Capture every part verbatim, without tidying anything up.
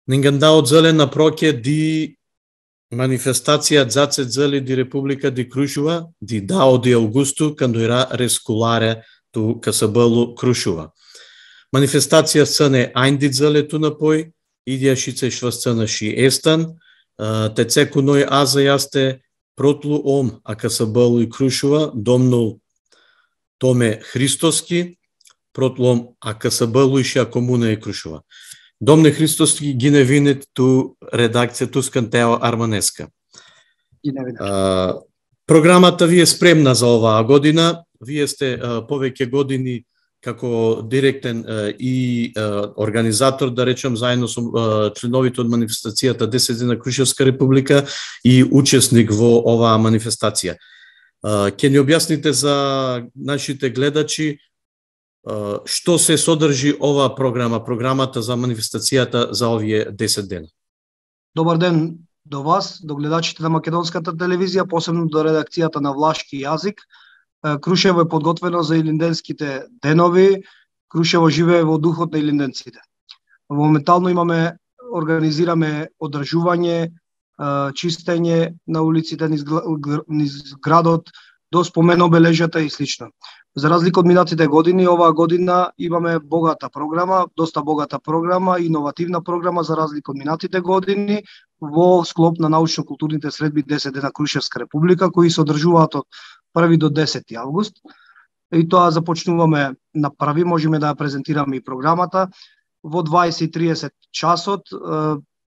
Ninguém dá o zele na proque di manifestația zațe zele di República di Crușova, di dao di Augusto, quando era resculare tu Casabelu Crușova. Manifestația săne aindi zele tu napoi, idia și țe șvăsțănă și estan, te cu noi azi este protlu om a Casabelu Crușova, domnul Tome Hristoski, protlu om a Casabelu și a Comunei Crușova. Domne Hristoски, гине винет ту редакција ту скантеа Арманеска. Uh, програмата ви е спремна за оваа година. Вие сте uh, повеќе години како директен uh, и uh, организатор, да речем, заедно со uh, членовите од манифестацијата десет дена Крушевска република и учесник во оваа манифестација. Uh, Ке ни објасните за нашите гледачи што се содржи оваа програма, програмата за манифестацијата за овие десет дена? Добар ден до вас, до гледачите на Македонската телевизија, посебно до редакцијата на влашки јазик. Крушево е подготвено за илинденските денови. Крушево живее во духот на илинденците. Моментално имаме, организираме одржување, чистење на улиците низ градот, до спомен обележјата и слично. За разлика од минатите години, оваа година имаме богата програма, доста богата програма, иновативна програма за разлика од минатите години во склоп на научно-културните средби десет дена Крушевска република, кои се одржуваат од први до десети август. И тоа започнуваме на први, можеме да ја презентираме и програмата во дваесет и триесет часот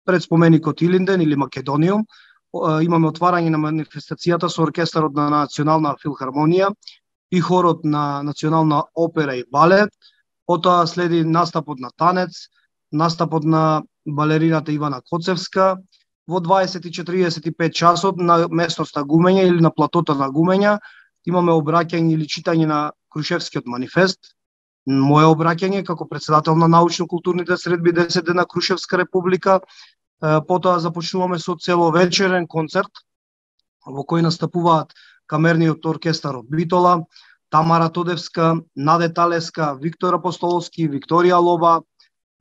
пред споменикот Илинден или Македониум. Имаме отварање на манифестацијата со оркестарот на Национална филхармонија и хорот на Национална опера и балет. Потоа следи настапот на танец, настапот на балерината Ивана Коцевска. Во дваесет и четириесет и пет часот на местноста Гумења или на платото на Гумења имаме обраќање или читање на Крушевскиот манифест. Моје обраќање како председател на научно-културните средби десет дена Крушевска република. Потоа започнуваме со целовечерен концерт во кој настапуваат камерниот оркестар од Битола, Тамара Тодевска, Наде Талеска, Виктор Апостоловски, Викторија Лоба.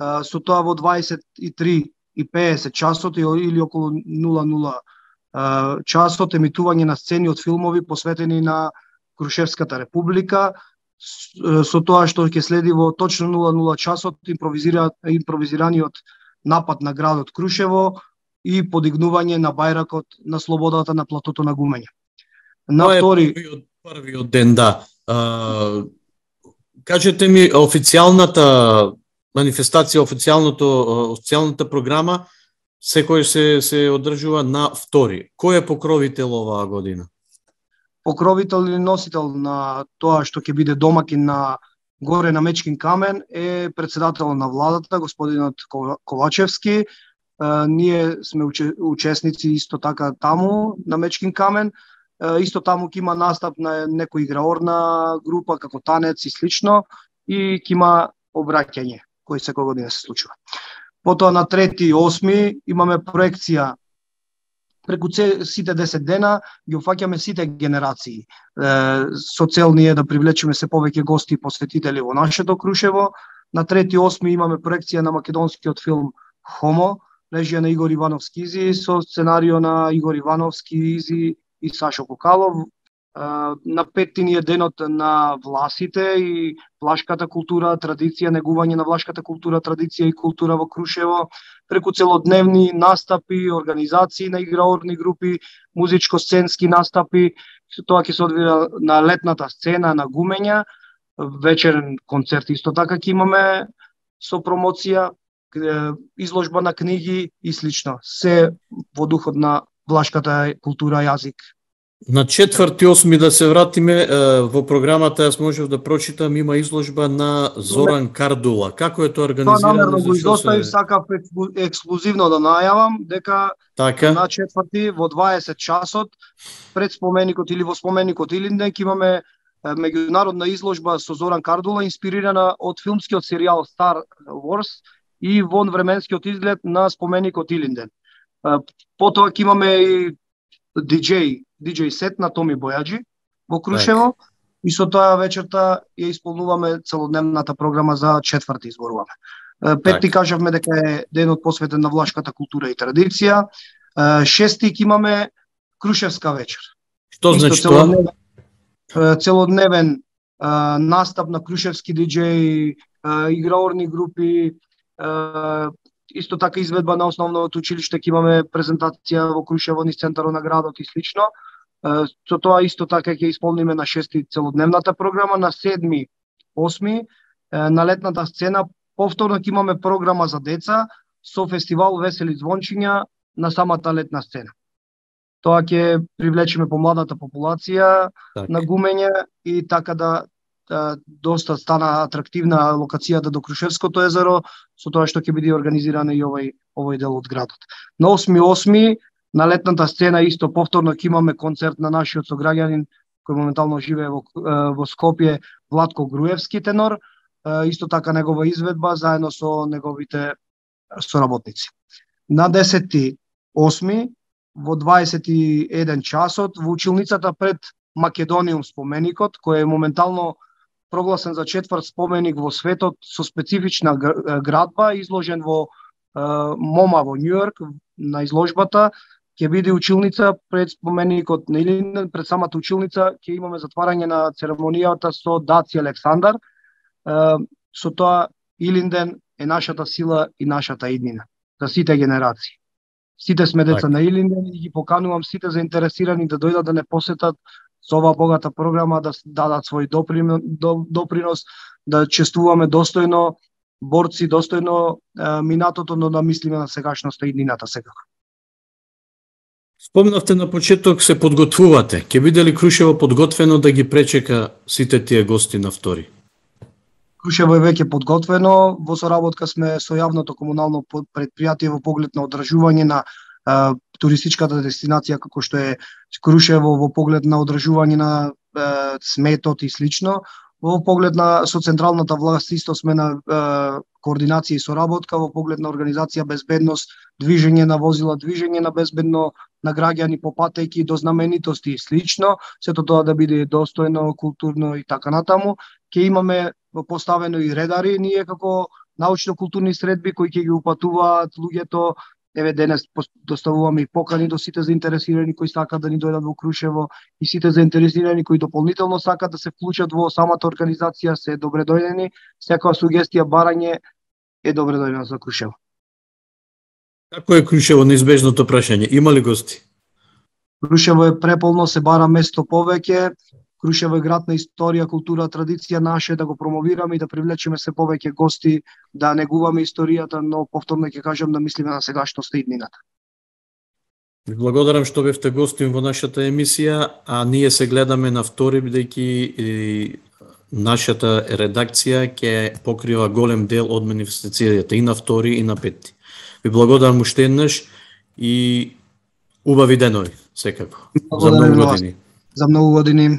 Со тоа во дваесет и три и петдесет часот или околу нула нула часот емитување на сцени од филмови посветени на Крушевската република. Со тоа што ќе следи во точно нула нула часот импровизира, импровизираниот напад на градот Крушево и подигнување на бајракот на слободата на платото на Гумења. На Тоа втори е првиот, првиот ден, да. А, кажете ми, официјалната манифестација, официјалното, официјалната програма секој се се одржува на втори. Кој е покровител оваа година? Покровител или носител на тоа што ќе биде домакин на горе на Мечкин камен е председател на владата, господинот Ковачевски. Ние сме учесници исто така таму на Мечкин камен. Исто таму ќе има настап на некој играорна група како танец и слично и ќе има обраќање кој секој година се случува. Потоа на трети и осми имаме проекција преку сите десет дена, ги офаќаме сите генерации. Со цел ние да привлечеме се повеќе гости и посетители во нашето Крушево. На трети и осми имаме проекција на македонскиот филм Хомо, режија на Игор Ивановски Изи, со сценарио на Игор Ивановски Изи и Сашо Кокалов. На петти ни е денот на власите и влашката култура, традиција, негување на влашката култура, традиција и култура во Крушево, преку целодневни настапи, организации на играорни групи, музичко-сценски настапи. Тоа ќе се одвива на летната сцена на Гумења, вечерен концерт исто така ќе имаме со промоција, изложба на книги и слично. Се во духот на влашката култура јазик. На четврти и осми да се вратиме во програмата, јас можев да прочитам, има изложба на Зоран Кардула. Како е тоа организирано? Тоа намерно го изоставив, сакав ексклузивно да најавам дека така? На четврти во дваесет часот пред споменикот или во споменикот Илинден ќе имаме меѓународна изложба со Зоран Кардула инспирирана од филмскиот серијал Star Wars и вон временскиот изглед на споменикот Илинден. Потоа ќе имаме и диџеј диџеј сет на Томи Бојаджи во Крушево и со тоа вечерта ја исполнуваме целодневната програма за четврти изборуваме. Петти кажавме дека е денот посветен на влашката култура и традиција. Шести ќе имаме Крушевска вечер. Што значи тоа? Целодневен, целодневен а, настап на крушевски диџеи, играорни групи, а, исто така изведба на основното училиште, ќе имаме презентација во Крушево низ центарот на градот и слично. А, со тоа исто така ќе исполниме на шести целодневната програма, на седми, осми а, на летната сцена повторно ќе имаме програма за деца со фестивал Весели звончиња на самата летна сцена. Тоа ќе привлечеме помладата популација так. на гумење и така да, да доста стана атрактивна локацијата до Крушевското езеро, со тоа што ќе биде организиран и овој овој дел од градот. На осми осми на летната сцена исто повторно ќе имаме концерт на нашиот сограѓанин кој моментално живее во, во Скопје, Владко Груевски тенор, исто така негова изведба заедно со неговите соработници. На десети осми во дваесет и еден часот во училницата пред Македониум споменикот, кој е моментално прогласен за четврт споменик во светот со специфична градба, изложен во МоМА во Њујорк на изложбата, ќе биде училница пред споменикот на Илинден, пред самата училница ќе имаме затварање на церемонијата со Даци Александар. Со тоа Илинден е нашата сила и нашата иднина за сите генерации. Сите сме деца так. на Илинден и ги поканувам сите заинтересирани да дојдат да не посетат со оваа богата програма, да дадат свој допринос, да чествуваме достојно борци, достојно е, минатото, но да мислиме на сегашноста и иднината секако. Спомнавте на почеток се подготвувате. Ќе биде ли Крушево подготвено да ги пречека сите тие гости на втори? Крушево е веќе подготвено, во соработка сме со јавното комунално предпријатие во поглед на одржување на е, туристичката дестинација како што е Крушево, во поглед на одржување на е, сметот и слично. Во поглед на со централната власт исто сме на е, координација и соработка во поглед на организација безбедност, движење на возила, движење на безбедно на граѓани по патеки до знаменитости и слично, сето тоа да биде достојно, културно и така натаму. Ќе имаме поставено и редари, ние како научно-културни средби кои ќе ги упатуваат луѓето. Еве денес доставуваме и покани до сите заинтересирани кои сакаат да ни дојдат во Крушево и сите заинтересирани кои дополнително сакаат да се вклучат во самата организација се добре дојдени. Секоја сугестија, барање е добре дојдена за Крушево. Како е Крушево, неизбежното прашање? Има ли гости? Крушево е преполно, се бара место повеќе. Крушево е град на историја, култура, традиција, наше да го промовираме и да привлечеме се повеќе гости, да негуваме историјата, но повторно ќе кажам да мислиме на сегашноста и иднината. Ви благодарам што бевте гостин во нашата емисија, а ние се гледаме на втори, бидејќи нашата редакција ќе покрива голем дел од манифестацијата и на втори и на пети. Ви благодарам уште еднаш и убави денови, секако. За многу години. За многу години.